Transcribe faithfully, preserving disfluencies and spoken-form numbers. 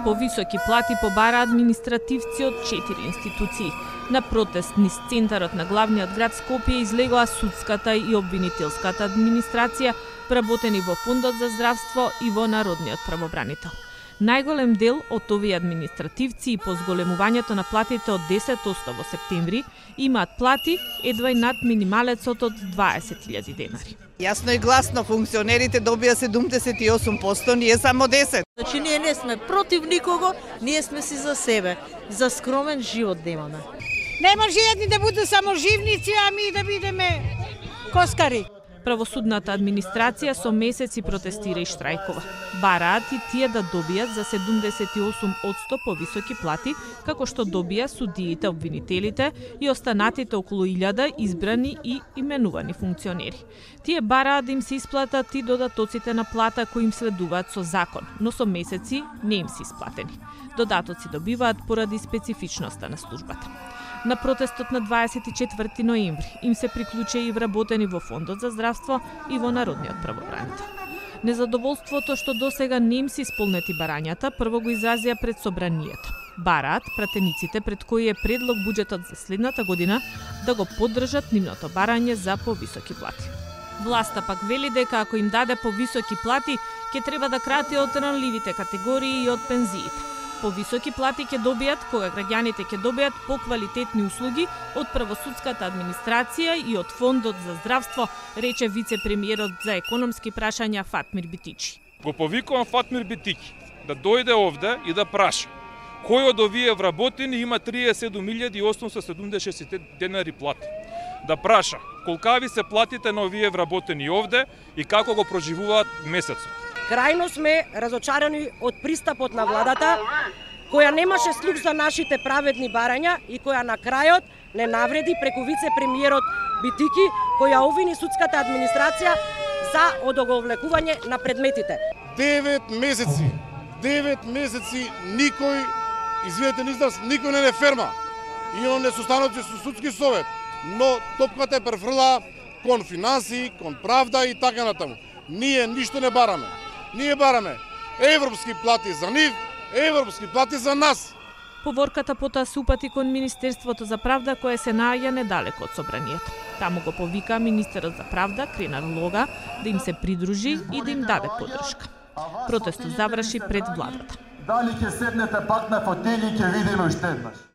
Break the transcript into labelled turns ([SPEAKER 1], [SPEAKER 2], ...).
[SPEAKER 1] Повисоки плати побара административци од четири институции. На протест низ центарот на главниот град Скопје излегоа судската и обвинителската администрација, вработени во Фондот за здравство и во Народниот правобранител. Најголем дел од овие административци и по зголемувањето на платите од десет одсто во септември имаат плати едва и над минималецот од дваесет илјади денари.
[SPEAKER 2] Јасно и гласно, функционерите добија седумдесет и осум одсто, ние само десет.
[SPEAKER 3] Значи ние не сме против никого, ние сме си за себе, за скромен живот да имаме.
[SPEAKER 4] Не може едни да бидат саможивници, а ми да бидеме коскари.
[SPEAKER 1] Правосудната администрација со месеци протестира и штрајкова. Бараат и тие да добијат за седумдесет и осум одсто повисоки плати, како што добија судиите, обвинителите и останатите околу илјада избрани и именувани функционери. Тие бараат да им се исплатат и додатоците на плата кои им следуваат со закон, но со месеци не им се исплатени. Додатоци добиваат поради специфичноста на службата. На протестот на дваесет и четврти ноември им се приклучи и вработени во Фондот за здравство и во Народниот правобранител. Незадоволството што досега не им се исполнети барањата прво го изразија пред собранието. Бараат пратениците пред кои е предлог буџетот за следната година да го поддржат нивното барање за повисоки плати. Власта пак вели дека ако им даде повисоки плати, ќе треба да крати од ранливите категории и од пензиите. Повисоки плати ќе добијат кога граѓаните ќе добијат поквалитетни услуги од правосудската администрација и од Фондот за здравство, рече вице-премиерот за економски прашања Фатмир Битичи.
[SPEAKER 5] Го повикувам Фатмир Битичи да дојде овде и да праша кој од овие вработени има триесет и седум илјади осумстотини седумдесет и шест денари плати. Да праша колкави се платите на овие вработени овде и како го проживуваат месецот.
[SPEAKER 6] Крајно сме разочарани од пристапот на владата, која немаше слух за нашите праведни барања и која на крајот не навреди преку вице-премиерот Битики, која обвини судската администрација за одоговлекување на предметите.
[SPEAKER 7] Девет месеци, девет месеци никој, извинете на израз, никој не не ферма. Имам несостаноци со судски совет, но топката е префрла кон финанси, кон правда и така натаму. Ние ништо не бараме. Ние бараме европски плати за нив, европски плати за нас.
[SPEAKER 1] Поворката потоа се упати кон Министерството за правда, кое се наоѓа недалеко од собранието. Таму го повика министерот за правда, Кренар Лога, да им се придружи и да им даде поддршка. Протестот заврши пред владата.
[SPEAKER 8] Дали ќе седнете пак на фотели, ќе видиме уште еднаш.